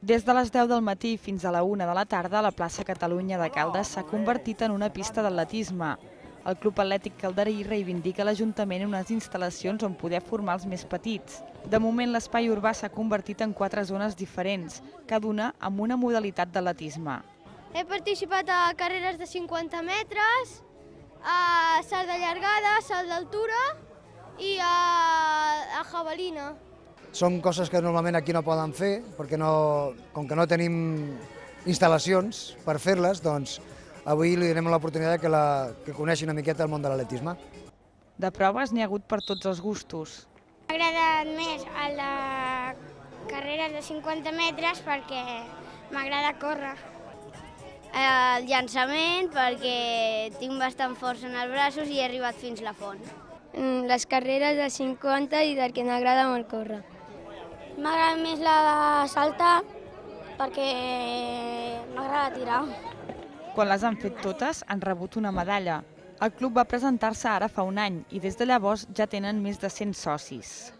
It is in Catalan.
Des de les 10 del matí fins a la 1 de la tarda, la plaça Catalunya de Caldes s'ha convertit en una pista d'atletisme. El Club Atlètic Calderí reivindica a l'Ajuntament unes instal·lacions on poder formar els més petits. De moment, l'espai urbà s'ha convertit en 4 zones diferents, cada una amb una modalitat d'atletisme. He participat a carreres de 50 metres, a salt de llargada, salt d'altura i a javelina. Són coses que normalment aquí no poden fer, perquè com que no tenim instal·lacions per fer-les, doncs avui li donem l'oportunitat que coneixi una miqueta el món de l'atletisme. De proves n'hi ha hagut per tots els gustos. M'ha agradat més el de carreres de 50 metres perquè m'agrada córrer. El llançament perquè tinc bastant força en els braços i he arribat fins la font. Les carreres de 50 i perquè m'agrada molt córrer. M'agrada més la de saltar perquè m'agrada tirar. Quan les han fet totes, han rebut una medalla. El club va presentar-se ara fa un any i des de llavors ja tenen més de 100 socis.